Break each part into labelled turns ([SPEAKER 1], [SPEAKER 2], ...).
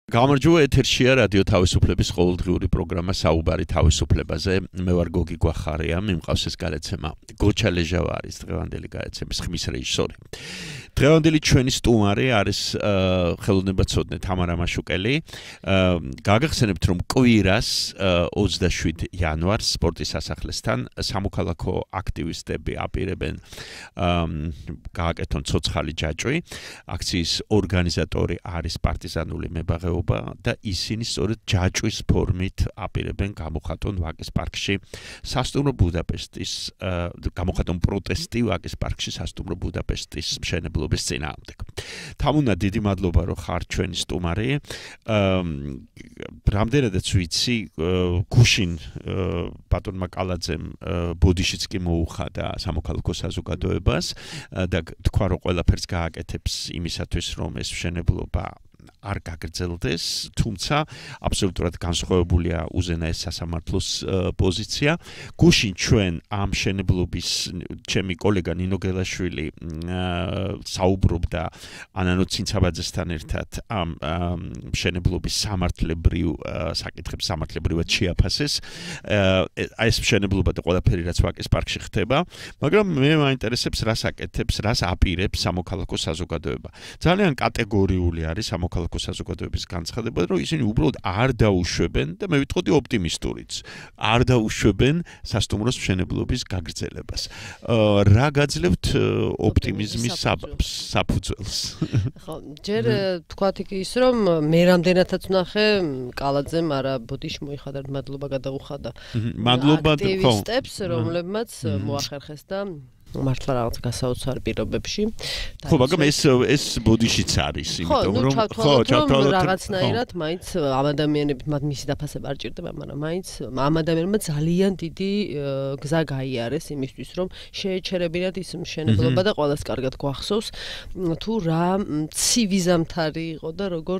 [SPEAKER 1] გამარჯობა ეთერშია რადიო თავისუფლების ყოველდღიური პროგრამა საუბარი თავისუფლებაზე. მე ვარ გოგი გვახარია, მიმყავს ეს გადაცემა. გოჩა ლეჟავა არის დღევანდელი გადაცემის ხმის რეჟისორი. დღევანდელი ჩვენი სტუმარი არის ხელოვნებაცოდნე თამარა მაშუკელი. გაგახსენებთ, რომ კვირას 27 იანვარს სპორტის სასახლესთან სამოქალაქო აქტივისტები აპირებენ გააკეთონ ცოცხალი ჯაჭვი. აქციის ორგანიზატორი არის პარტიზანული მებაღეობა და ისინი სწორედ ჯაჭვის ფორმით აპირებენ გამოხატონ ვაკის პარკში სასტუმრო ბუდაპესტის გამოხატონ პროტესტი ვაკის პარკში სასტუმრო ბუდაპესტის მშენებლობის წინააღმდეგ. თამუნა, დიდი მადლობა, რომ ხარ ჩვენი სტუმარი. რამდენადაც ვიცი, გუშინ ბატონმა კალაძემ ბოდიშიც კი მოუხადა სამოქალაქო საზოგადოებას და თქვა, რომ ყველაფერს გააკეთებს იმისათვის, რომ ეს მშენებლობა არ გაგრძელდეს, თუმცა აბსოლუტურად განსხვავებულია უზენაეს სასამართლოს პოზიცია. გუშინ ჩვენ ამ მშენებლობის ჩემი კოლეგა ნინო გელაშვილი საუბრობდა ანანო ცინცაბაძესთან ერთად ამ მშენებლობის სამართლებრივ საკითხებს სამართლებრივად შეაფასეს. ეს მშენებლობა და ყველაფერი რაც ვაკის პარკში ხდება, მაგრამ მე მაინტერესებს რას აკეთებს, რას აპირებს სამოქალაქო საზოგადოება. ძალიან კატეგორიული არის სამოქალაქო საზოგადოების განცხადება, რომ ისინი უბრალოდ არ დაუშვებენ და მე ვიტყოდი ოპტიმისტურიც. არ დაუშვებენ სასტუმროს მშენებლობის გაგრძელებას. რა გაძლევთ ოპტიმიზმის საფუძველს?
[SPEAKER 2] ხო, ჯერ თქვათ ის, რომ მე რამდენადაც ვნახე კალაძემ არა ბოდიში მოიხადა, მადლობა გადაუხადა.
[SPEAKER 1] მადლობა
[SPEAKER 2] აქტივისტებს, რომლებმაც მოახერხეს და მართლა რაღაც გასაოცარ პირობებში.
[SPEAKER 1] ხო, მაგრამ ეს ბოდიშიც არის, იმიტომ რომ
[SPEAKER 2] ჩავთვალოთ რაღაცნაირად მაინც ამ ადამიანებით მათ მისი დაფასება არ ჭირდება, მაგრამ მაინც ამ ადამიანებმა ძალიან დიდი გზა გაიარეს იმისთვის, რომ შეეჩერებინათ ის მშენებლობა და ყველას კარგად გვახსოვს, თუ რა ცივი ზამთარი იყო და როგორ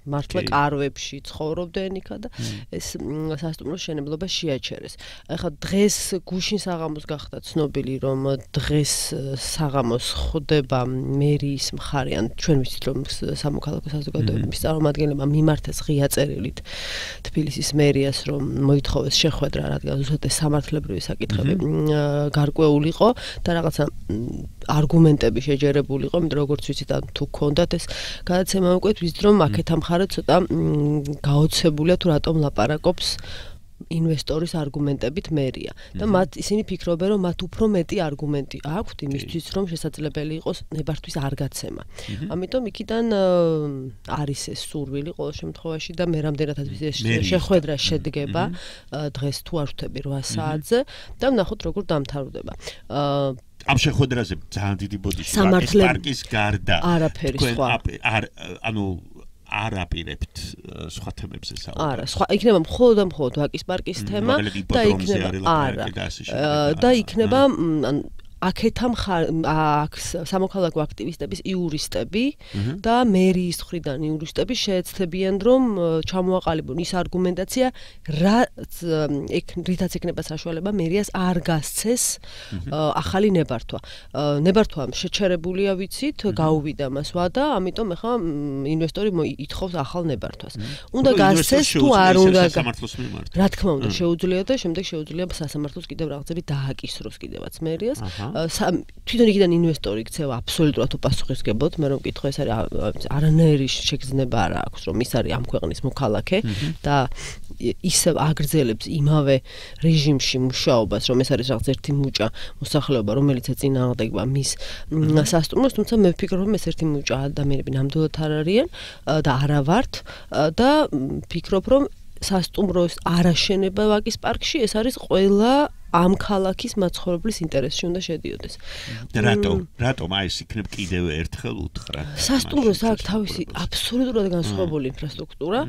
[SPEAKER 2] მართლა კარვებში ცხოვრობდნენ იქა და ეს სასტუმროს მშენებლობა შეაჩერეს. ახლა დღეს გუშინ საღამოს გახდა ცნობილი, რომ დღეს საღამოს ხდება მერიის მხარიან ჩვენ ვიცით, რომ სამოქალაქო საზოგადოების წარმომადგენლებმა მიმართეს ღია წერილით თბილისის მერიას, რომ მოითხოვეს შეხვედრა, რადგან ზუსტად ეს სამართლებრივი საკითხები გარკვეულიყო და რაღაცა არგუმენტები შეჯერებულიყო, იმიტომ როგორც ვიცით, თუ გქონდათ ეს გადაცემა უკვე ვიცით, რომ აქეთ ამ მხარე ცოტა გაოცებულია თუ რატომ ლაპარაკობს ინვესტორის არგუმენტებით მერია და მათ ისინი ფიქრობენ, რომ მათ უფრო მეტი არგუმენტი აქვთ იმისთვის, რომ შესაძლებელი იყოს ნებართვის არ გაცემა. ამიტომ იქიდან არის ეს სურვილი ყოველ შემთხვევაში და მე რამდენადაც ეს შეხვედრა შედგება დღეს თუ არ ვთქვი 8 საათზე და ვნახოთ როგორ დამთავრდება.
[SPEAKER 1] ამ შეხვედრაზე ძალიან დიდი ბოდიში პარკის გარდა
[SPEAKER 2] არაფერი სხვა
[SPEAKER 1] ანუ არ აპირებთ სხვა თემებზე საუბარი.
[SPEAKER 2] არა, სხვა იქნება მხოლოდ ვაკის პარკის თემა და იქნება აქეთ სამოქალაქო აქტივისტების იურისტები და მერიის მხრიდან იურისტები შეეცდებიან, რომ ჩამოაყალიბონ ის არგუმენტაცია, რითაც ექნება საშუალება მერიას არ გასცეს ახალი ნებართვა. ნებართვა შეჩერებულია, ვიცით, გაუვიდა მას ვადა, ამიტომ ახლა ინვესტორი ითხოვს ახალ ნებართვას. უნდა გასცეს თუ არ უნდა? რა თქმა უნდა, შეუძლია და შემდეგ შეუძლია სასამართლოს კიდევ რაღაცები დააკისროს კიდევაც მერიას. თვითონ იქიდან ინვესტორი იქცევა აბსოლუტურად უპასუხისმგებლად, მე რომ მკითხო, ეს არის არანაირი შეგრძნება არ აქვს, რომ ის არის ამ ქვეყნის მოქალაქე და ისევ აგრძელებს იმავე რეჟიმში მუშაობას, რომ ეს არის რაღაც ერთი მუჭა მოსახლეობა, რომელიც ეწინააღმდეგება მის სასტუმროს, თუმცა მე ვფიქრობ, რომ ეს ერთი მუჭა ადამიანები ნამდვილად არ არიან და არა ვართ და ვფიქრობ, რომ სასტუმროს არაშენება ვაკის პარკში ეს არის ყველა ამ ქალაქის მაცხოვრებლის ინტერესში უნდა შედიოდეს.
[SPEAKER 1] და რატომ აი ეს იქნებ კიდევ ერთხელ უთხრა?
[SPEAKER 2] სასტუმროს აქვს თავისი აბსოლუტურად განსხვავებული ინფრასტრუქტურა,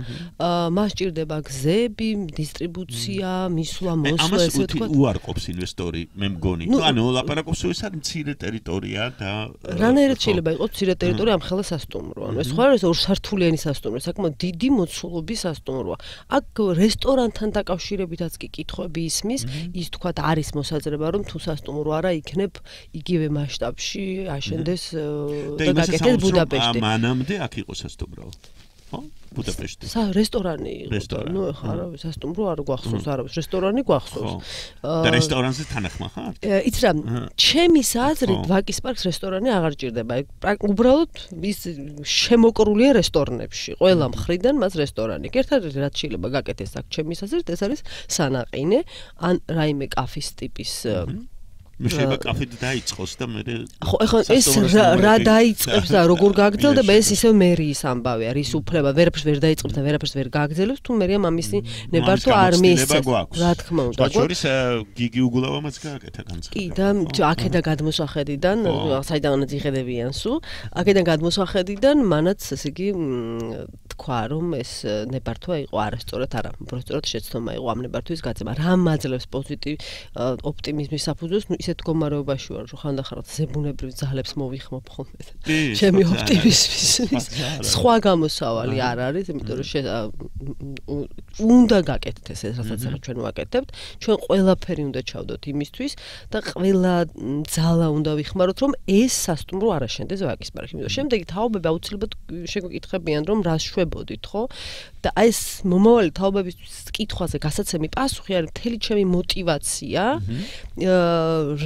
[SPEAKER 2] მას ჭირდება გზები, დისტრიბუცია, მისვლა, მოსვლა, ესე ვთქვათ.
[SPEAKER 1] ამას უარყოფს ინვესტორი, მე მგონი. ანუ ლაპარაკობს, ეს არის მცირე ტერიტორია და
[SPEAKER 2] რანაირად შეიძლება იყოს მცირე ტერიტორია ამ ხელა სასტუმრო. ანუ ეს ხო არის ორსართულიანი სასტუმრო, საკმაოდ დიდი მოცულობის სასტუმროა. აქ რესტორანთან დაკავშირებითაც კი კითხვები ისმის, ის თქვა არის მოსაზრება, რომ თუ სასტუმრო არა იქნებ იგივე მასშტაბში აშენდეს და გაკეთდეს ბუდაპეშტი.
[SPEAKER 1] მანამდე აქ იყო სასტუმრო. ხო? ბუდაპეშტი.
[SPEAKER 2] რესტორანი იყო. ნუ ეხლა არავის სასტუმრო არ გვახსოვს, არავის რესტორანი გვახსოვს.
[SPEAKER 1] და რესტორანზე თანახმა ხარ?
[SPEAKER 2] იცი რა, ჩემი აზრით ვაკის პარკს რესტორანი აღარ ჭირდება. უბრალოდ ის შემოკრულია რესტორნებში. ყველა მხრიდან მას რესტორანი. ერთადერთი რაც შეიძლება გაკეთდეს აქ ჩემი აზრით, ეს არის სანაყინე ან რაიმე კაფის ტიპის
[SPEAKER 1] შეიძლება კაფედ დაიწყოს და მე
[SPEAKER 2] ხო ეხლა ეს რა დაიწყებს და როგორ გაგრძელდება ეს ისევ მერიის ამბავია რის უფლება ვერაფერს ვერ დაიწყებს და ვერაფერს ვერ გაგრძელებს თუ მერია მამისი ნებართვა არ მიისცეს რა თქმა უნდა
[SPEAKER 1] ბაჭორის გიგი უგულავამაც გააკეთა განცხადება
[SPEAKER 2] კი და აქედან გადმოსახედიდან საიდანაც იხედებიან სულ აქედან გადმოსახედიდან მანაც ესე იგი თქვა რომ ეს ნებართვა იყო არასწორად არა უბრალოდ შეცდომა იყო ამ ნებართვის გაწევა რა მაძლევს პოზიტივ ოპტიმიზმის საფუძველს ისეთ მდგომარეობაში ვარ რომ ხანდახან ზებუნებრივ ძალებს მოვიხმობ ხოლმე ჩემი ოპტიმიზმის სხვა გამოსავალი არ არის იმიტომ რომ უნდა გაკეთდეს ეს რასაც ჩვენ ვაკეთებთ ჩვენ ყველაფერი უნდა ჩავდოთ იმისთვის და ყველა ძალა უნდა ვიხმაროთ რომ ეს სასტუმრო არ აშენდეს ვაკის პარკში იმიტომ შემდეგი თაობები აუცილებლად შეგვიკითხებიან რომ რას შვებოდით ხო და ეს მომავალი თაობებისთვის კითხვაზე გასაცემი პასუხი არის მთელი ჩემი მოტივაცია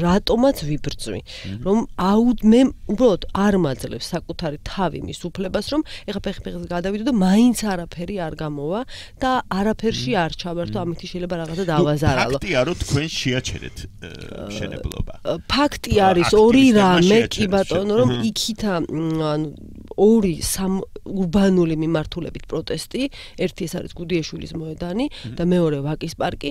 [SPEAKER 2] რატომაც ვიბრძვი რომ მე უბრალოდ არ მაძლევს საკუთარი თავი მის უფლებას რომ ეხა ფეხი-ფეხის გადავიდო და მაინც არაფერი არ გამოვა და არაფერში არ ჩავერთო ამით შეიძლება რაღაცა დავაზარალო
[SPEAKER 1] ფაქტია რომ თქვენ შეაჩერეთ მშენებლობა
[SPEAKER 2] ფაქტი არის ორი რამე კი ბატონო რომ იქითა ანუ ორი ურბანული მიმართულებით პროტესტი ერთი ეს არის გუდიაშვილის მოედანი და მეორე ვაკის პარკი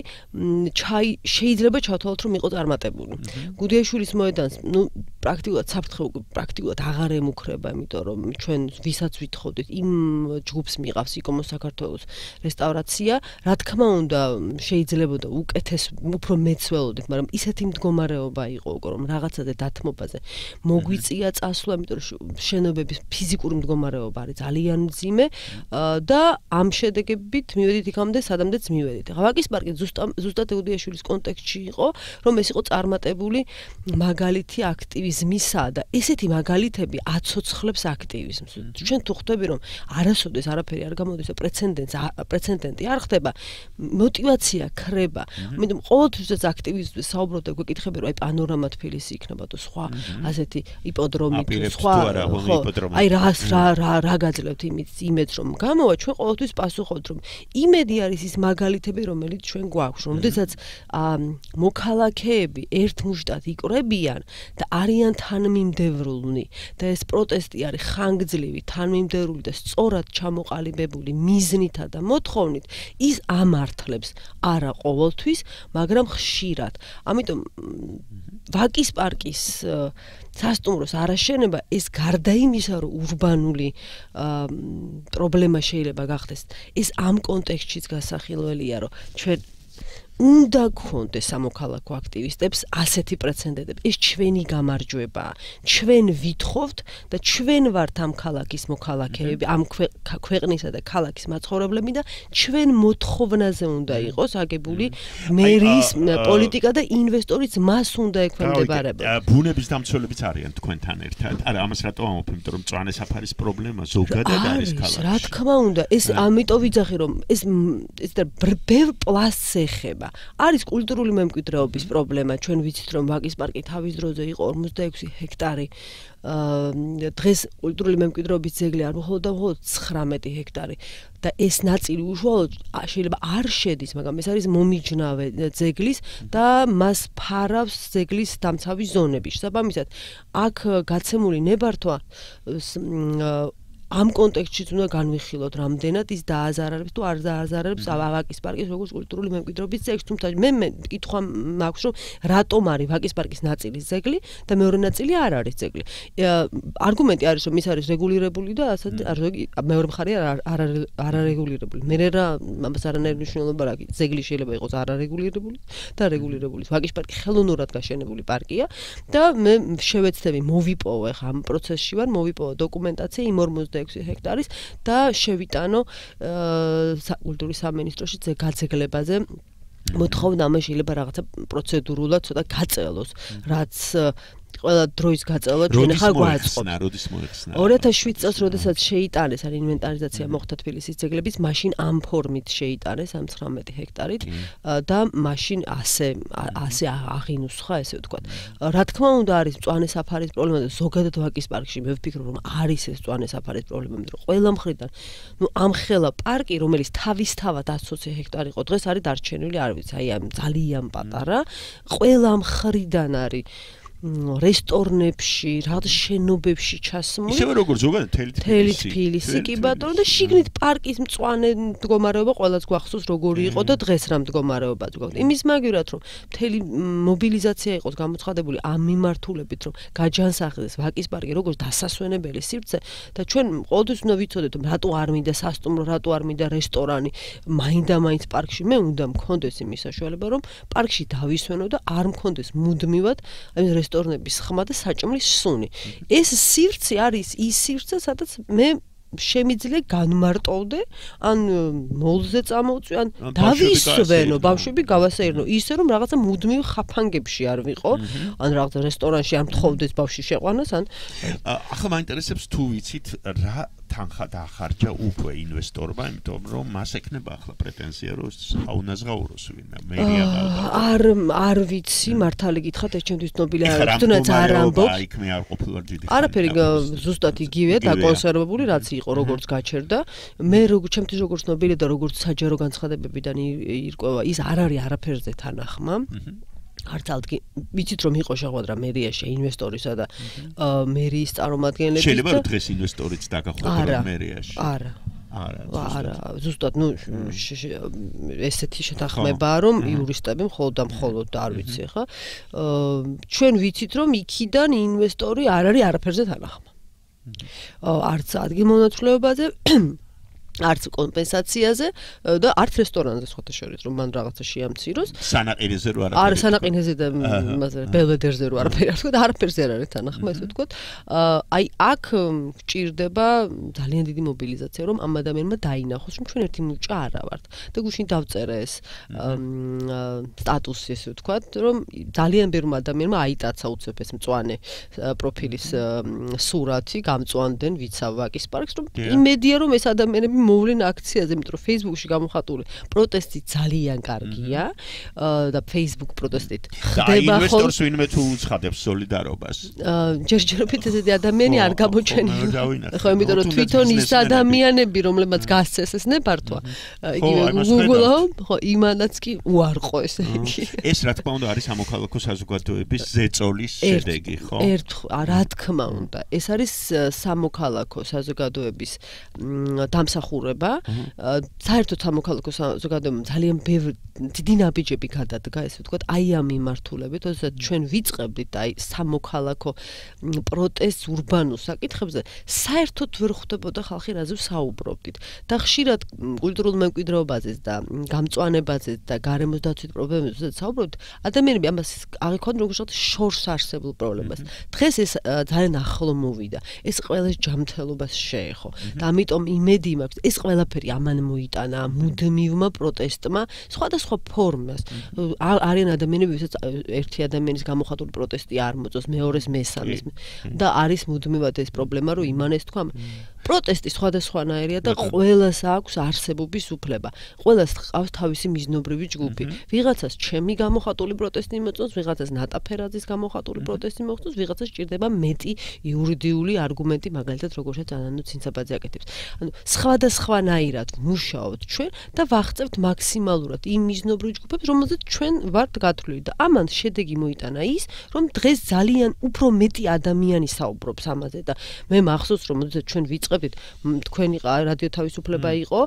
[SPEAKER 2] შეიძლება ჩავთვალოთ რომ იყო წარმატებული გუდიაშვილის მოედანს ნუ პრაქტიკულად საფრთხე პრაქტიკულად აღარ ემუქრება იმიტომ რომ ჩვენ ვისაც ვითხოვდით იმ ჯგუფს მიყავს იკომოს საქართველოს რესტავრაცია რა თქმა უნდა შეიძლებოდა უკეთეს უფრო მეც ველოდით მაგრამ ისეთი მდგომარეობა იყო უკვე რომ რაღაცაზე დათმობაზე მოგვიწია წასვლა იმიტომ რომ შენობების ფიზიკური მდგომარეობა არის ძალიან მძიმე და ამ შედეგებით მივედით იქამდე სადამდეც მივედით. ვაკის პარკი ზუსტად გუდიაშვილის კონტექსტში იყო, რომ ეს იყო წარმატებული მაგალითი აქტივიზმისა და ესეთი მაგალითები აცოცხლებს აქტივიზმს. ჩვენ თუ ხვდები რომ არასოდეს არაფერი არ გამოდის და პრეცედენტი არ ხდება, мотиваცია ქრება. ამიტომ ყოველთვის აქტივიზმის საუბრობ და გვეკითხები რომ აი პანორამა თბილისი იქნება თუ სხვა ასეთი იპოდრომი თუ სხვა აი რა გაძლევთ იმედს რომ გამოვა ჩვენ ყოველთვის პასუხობთ რომ იმედი არის ის მაგალითები რომელიც ჩვენ გვაქვს როდესაც მოქალაქეები ერთმუშტად იკრებიან და არიან თანმიმდევრულნი და ეს პროტესტი არის ხანგრძლივი თანმიმდევრული და სწორად ჩამოყალიბებული მიზნითა და მოთხოვნით ის ამართლებს არა ყოველთვის მაგრამ ხშირად ამიტომ ვაკის პარკის სასტუმროს არაშენება ეს გარდა იმისა რომ ურბანული პრობლემა შეიძლება გახდეს ეს ამ კონტექსტშიც გასახილველია რომ ჩვენ უნდა გქონდეს სამოქალაქო აქტივისტებს ასეთი პრეცედენტები ეს ჩვენი გამარჯვებაა ჩვენ ვითხოვთ და ჩვენ ვართ ამ ქალაქის მოქალაქეები ამ ქვეყნისა და ქალაქის მაცხოვრებლები და ჩვენ მოთხოვნაზე უნდა იყოს აგებული მერიის პოლიტიკა და ინვესტორიც მას უნდა ექვემდებარებოდეს
[SPEAKER 1] ბუნების დამცველებიც არიან თქვენთან ერთად არა ამას რატო ამობ იმიტომ რომ მწვანე საფარის პრობლემა ზოგადად არის ქალაქში
[SPEAKER 2] რა თქმა უნდა ეს ამიტომ ვიძახი რომ ეს ბევრ პლასტს ეხება არის კულტურული მემკვიდრეობის პრობლემა ჩვენ ვიცით რომ ვაკის პარკი თავის დროზე იყო 46 ჰექტარი დღეს კულტურული მემკვიდრეობის ძეგლი არ მხოლოდ 19 ჰექტარი და ეს ნაწილი უშუალოდ შეიძლება არ შედის მაგრამ ეს არის მომიჯნავე ძეგლის და მას ფარავს ძეგლის დამცავი ზონები შესაბამისად აქ გაცემული ნებართვა ამ კონტექსტშიც უნდა განვიხილოთ რამდენად ის დააზარალებს თუ არ დააზარალებს ვაკის პარკის როგორც კულტურული მემკვიდრეობის ძეგლს თუმცა მე კითხვა მაქვს რომ რატომ არის ვაკის პარკის ნაწილის ძეგლი და მეორე ნაწილი არ არის ძეგლი არგუმენტი არის რომ ის არის რეგულირებული და ასეთ მეორე მხარე არარეგულირებული მე რა ამას არანაირი მნიშვნელობა რა ძეგლი შეიძლება იყოს არარეგულირებული და რეგულირებული ვაკის პარკი ხელოვნურად გაშენებული პარკია და მე შევეცდები მოვიპოვე ამ პროცესში ვარ მოვიპოვე დოკუმენტაცია იმ 46 ჰექტარის და შევიტანო კულტურის სამინისტროში გაცეგლებაზე მოთხოვნა ამ შეიძლება რაღაცა პროცედურულად ცოტა გაწელოს რაც ყველა დროის გაწევა ჩვენ ახლა გვაწყობს.
[SPEAKER 1] როდის მოეხსნა?
[SPEAKER 2] 2007 წელს, როდესაც შეიტანეს ან ინვენტარიზაცია მოხდა თბილისის ძეგლების, მაშინ ამ ფორმით შეიტანეს ამ 19 ჰექტარით და მაშინ ასე აღინუსხა, ესე ვთქვათ. რა თქმა უნდა, არის მწვანე საფარის პრობლემა და ზოგადად ვაკის პარკში მე ვფიქრობ, რომ არის ეს მწვანე საფარის პრობლემა, მაგრამ ყველა მხრიდან, ამხელა პარკი, რომელიც თავისთავად 120 ჰექტარი იყო, დღეს არის დარჩენილი, არ ვიცი, აი ამ ძალიან პატარა, ყველა მხრიდან არის რესტორნებში, რაღაც შენობებში ჩასმული.
[SPEAKER 1] ისევე როგორც ზოგადად
[SPEAKER 2] თელი თბილისი კი ბატონო და შიგნით პარკის მწვანე მდგომარეობა ყველას გვახსოვს როგორი იყო და დღეს რა მდგომარეობაც გვაქვს. იმის მაგივრად რომ მთელი მობილიზაცია იყოს გამოცხადებული ამ მიმართულებით რომ გაჯანსაღდეს ვაკის პარკი როგორც დასასვენებელი სივრცე და ჩვენ ყოველთვის უნდა ვიცოდეთ რატო არ მინდა სასტუმრო, რატო არ მინდა რესტორანი, მაინდა-მაინც პარკში მე უნდა მქონდეს იმის საშუალება რომ პარკში დავისვენო და არ მქონდეს მუდმივად აი რესტორნების ხმა და საჭმლის სუნი. ეს სივრცე არის ის სივრცე, სადაც მე შემიძლია განმარტოვდე, ან მოლზე წამოვწვი, ან დავისვენო, ბავშვები გავასეირნო, ისე რომ რაღაცა მუდმივ ხაფანგებში არ ვიყო, ან რაღაცა რესტორანში არ მთხოვდეს ბავში შეყვანას, ან
[SPEAKER 1] ახლა მაინტერესებს თუ ვიცით რა თანხა დაახარჯა უკვე ინვესტორმა, იმიტომ რომ მას ექნება ახლა პრეტენზია, რომ აუნაზღაუროს ვინმე, მერია
[SPEAKER 2] არ ვიცი, მართალი გითხრათ, ეს ჩემთვის ცნობილი არ არის, თუნდაც არ ამბობს.
[SPEAKER 1] იქ მე არ ყოფილვარ ჯიდი.
[SPEAKER 2] არაფერი ზუსტად იგივეა, დაკონსერვებული, რაც იყო, როგორც გაჩერდა. მე ჩემთვის როგორც ცნობილი და როგორც საჯარო განცხადებებიდან ირკვევა, ის არ არის არაფერზე თანახმა. არც ალდგი ვიცით რომ იყო შეხვედრა მერიაში ინვესტორისა და მერიის წარმომადგენლების
[SPEAKER 1] შეიძლება რომ დღეს ინვესტორიც დაგახვდება მერიაში
[SPEAKER 2] არა ზუსტად ნუ ესეთი შეთანხმებაა რომ იურისტები მხოლოდ და მხოლოდ არ ვიცი ხა ჩვენ ვიცით რომ იქიდან ინვესტორი არ არის არაფერზე თანახმა არც ადგილმონაცვლეობაზე არც კომპენსაციაზე და არც რესტორანზე სხვათა შორის რომ მან რაღაცა შეამციროს
[SPEAKER 1] სანაყინეზე რო
[SPEAKER 2] არაფერი არა სანაყინეზე და ბელვედერზე რო არაფერი არ თქვა და არაფერზე არ არის თანახმა ესე ვთქვათ აი აქ გჭირდება ძალიან დიდი მობილიზაცია რომ ამ ადამიანმა დაინახოს რომ ჩვენ ერთი მუჭა არა ვართ და გუშინ დავწერე ეს სტატუსი ესე ვთქვათ რომ ძალიან ბევრ ადამიანმა აიტაცა უცებ ეს მწვანე პროფილის სურათი გამწვანდნენ ვიცავ ვაკის პარკს რომ იმედია რომ ეს ადამიანები მოვლენ აქციაზე, იმიტომ რომ Facebook-ში გამოხატული პროტესტი ძალიან კარგია და Facebook პროტესტით
[SPEAKER 1] ხდება ხოლმე. და ინვესტორს ვინმე თუ უცხადებს სოლიდარობას.
[SPEAKER 2] ჯერჯერობით ესეთი ადამიანი არ გამოჩენილი. ხო, იმიტომ რომ თვითონ ის ადამიანები, რომლებმაც გასცეს ეს ნებართვა, იგივე Google-ო, ხო, იმანაც კი უარყო ესე იგი.
[SPEAKER 1] ეს რა თქმა უნდა არის სამოქალაქო საზოგადოების ზეწოლის შედეგი, ხო?
[SPEAKER 2] რა თქმა უნდა, ეს არის სამოქალაქო საზოგადოების დამსახურება საერთოდ სამოქალაქო საზოგადოებამ ძალიან დიდი ნაბიჯები გადადგა ესე ვთქვათ აი ამ მიმართულებით როდესაც ჩვენ ვიწყებდით აი სამოქალაქო პროტესტს ურბანულ საკითხებზე საერთოდ ვერ ხვდებოდა ხალხი რაზე საუბრობდით და ხშირად კულტურულ მემკვიდრეობაზეც და გამწვანებაზეც და გარემოს დაცვით პრობლემებზე საუბრობთ ადამიანები ამას აღიქვან როგორც შორს არსებულ პრობლემას დღეს ეს ძალიან ახლო მოვიდა ეს ყველას ჯანმრთელობას შეეხო და ამიტომ იმედი მაქვს ეს ყველაფერი ამან მოიტანა მუდმივმა პროტესტმა სხვადასხვა ფორმას არიან ადამიანები ვისაც ერთი ადამიანის გამოხატული პროტესტი არ მოწონს მეორეს მესამეს და არის მუდმივად ეს პრობლემა რომ იმანეს თქვა პროტესტი სხვადასხვანაირია და ყველას აქვს არსებობის უფლება ყველას ყავს თავისი მიზნობრივი ჯგუფი ვიღაცას ჩემი გამოხატული პროტესტი მოწონს ვიღაცას ნატაფერაძის გამოხატული პროტესტი მოწონს ვიღაცას ჭირდება მეტი იურიდიული არგუმენტი მაგალითად როგორცაც ანანუ ცინცაბაძე აკეთებს ანუ სხვადასხვანაირად მუშაობთ ჩვენ და ვაღწევთ მაქსიმალურად იმ მიზნობრივ ჯგუფებს რომელზეც ჩვენ ვართ გათვლილი და ამან შედეგი მოიტანა ის რომ დღეს ძალიან უფრო მეტი ადამიანი საუბრობს ამაზე და მე მახსოვს რომ როდესაც ჩვენ ვიწყებდით თქვენი რადიო თავისუფლება იყო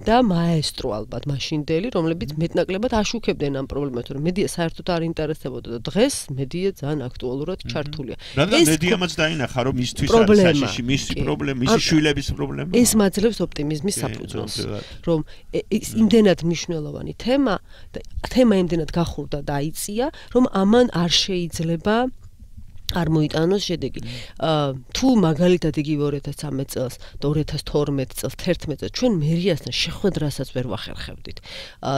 [SPEAKER 2] და მაესტრო ალბათ მაშინდელი რომლებიც მეტნაკლებად აშუქებდნენ ამ პრობლემას რომ მედია საერთოდ არ ინტერესდებოდა და დღეს მედია ძალიან აქტუალურად ჩართულია
[SPEAKER 1] რადგან მედიამაც დაინახა რომ მისთვის არის საშიში მისი პრობლემა მისი შვილების პრობლემა
[SPEAKER 2] ეს მაძლევს ოპტიმიზმის საფუძველს რომ ის იმდენად მნიშვნელოვანი თემა და თემა იმდენად გახურდა და აიწია რომ ამან არ შეიძლება არ მოიტანოს შედეგი. თუ მაგალითად იგივე 2013 წელს და 2012 წელს 11 წელს ჩვენ მერიასთან შეხვედრასაც ვერ ვახერხებდით.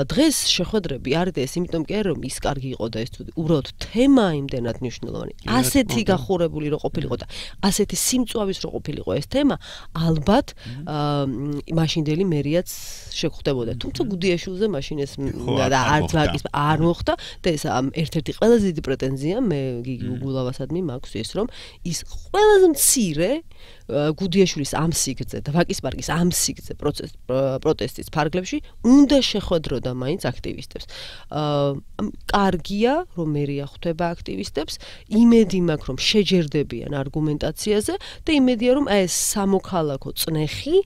[SPEAKER 2] დღეს შეხვედრები არ არის, იმიტომ კი არა რომ ის კარგი იყო და ეს უბრალოდ თემა იმდენად მნიშვნელოვანი. ასეთი გახურებული რო ყოფილიყო და ასეთი სიმწვავის რო ყოფილიყო ეს თემა, ალბათ მაშინდელი მერიაც შეხვდებოდა. თუმცა გუდიაშვილზე მაშინ ეს და არც ვაკის არ მოხდა და ეს ერთ-ერთი ყველაზე დიდი პრეტენზია მე გიგი უგულავასადმი მაქვს ის რომ ის ყველაზე მცირე გუდიაშვილის ამ სიგრძე და ვაკის პარკის ამ სიგრძე პროტესტის ფარგლებში უნდა შეხვედროდა მაინც აქტივისტებს. კარგია რომ მერია ხვდება აქტივისტებს, იმედი მაქვს რომ შეჯერდებიან არგუმენტაციაზე და იმედია რომ ეს სამოქალაქო წნეხი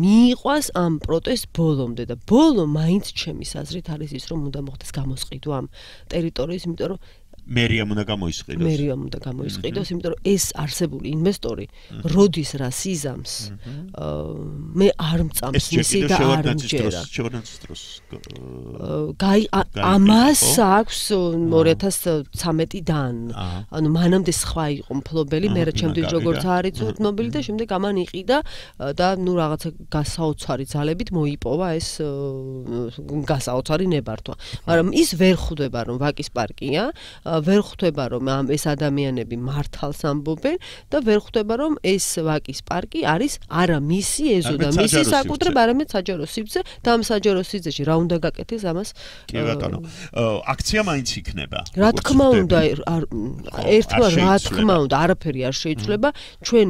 [SPEAKER 2] მიიყვას ამ პროტესტ ბოლომდე და ბოლო მაინც ჩემის აზრით არის ის რომ უნდა მოხდეს გამოსყიდვა ამ ტერიტორიის, იმიტომ რომ
[SPEAKER 1] მერიამ უნდა გამოისყიდოს.
[SPEAKER 2] მერიამ უნდა გამოისყიდოს, იმიტომ რომ ეს არსებული ინვესტორი როდის რა სიზამს მე არ მწამს მისი და არ მჯერა. ამას აქვს 2013-დან. ანუ მანამდე სხვა იყო მფლობელი, მე ჩემთვის როგორც არის ცნობილი და შემდეგ ამან იყიდა და ნუ რაღაცა გასაოცარი ძალებით მოიპოვა ეს გასაოცარი ნებართვა. მაგრამ ის ვერ ხვდება რომ ვაკის პარკია, ვერ ხვდება რომ ეს ადამიანები მართალს ამბობენ და ვერ ხვდება რომ ეს ვაკის პარკი არის არა მისი ეზო და მისი საკუთრება, არამედ საჯარო სივრცე და ამ საჯარო სივრცეში რა უნდა გაკეთდეს ამას.
[SPEAKER 1] კი ბატონო. აქცია მაინც იქნება.
[SPEAKER 2] რა თქმა უნდა, ერთმა რა თქმა უნდა, არაფერი არ შეიცვლება. ჩვენ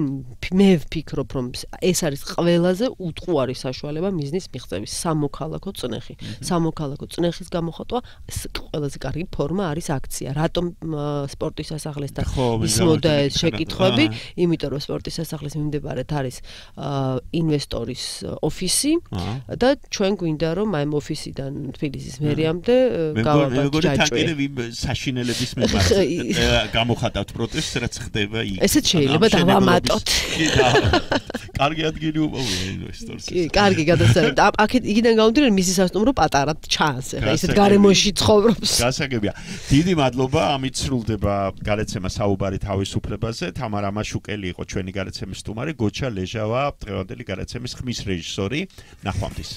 [SPEAKER 2] მე ვფიქრობ რომ ეს არის ყველაზე უტყუარი საშუალება მიზნის მიღწევის სამოქალაქო წნეხი. სამოქალაქო წნეხის გამოხატვა ყველაზე კარგი ფორმა არის აქცია. რატომ სპორტის სასახლესთან ისმოდა ეს შეკითხვები, იმიტომ რომ სპორტის სასახლის მიმდებარედ არის ინვესტორის ოფისი და ჩვენ გვინდა რომ აი ოფისიდან თბილისის მერიამდე გავაბარდეთ.
[SPEAKER 1] მეგონი თაკერები საშინელების მიმართ გამოხატავთ პროტესტს, რაც ხდება იქ.
[SPEAKER 2] ესეც შეიძლება დავამატოთ.
[SPEAKER 1] კარგი ადგილი უპოვია ინვესტორს.
[SPEAKER 2] კი, კარგი გადასწრება. აქეთ იქიდან გამომდინარე მისი სასტუმრო პატარად ჩანს. ეხლა ისეთ გარემოში ცხოვრობს.
[SPEAKER 1] გასაგებია. დიდი მადლობა. ამით სრულდება გადაცემა საუბარი თავისუფლებაზე. თამარა მაშუკელი იყო ჩვენი გადაცემის სტუმარი, გოჩა ლეჟავა დღევანდელი გადაცემის ხმის რეჟისორი. ნახვამდის.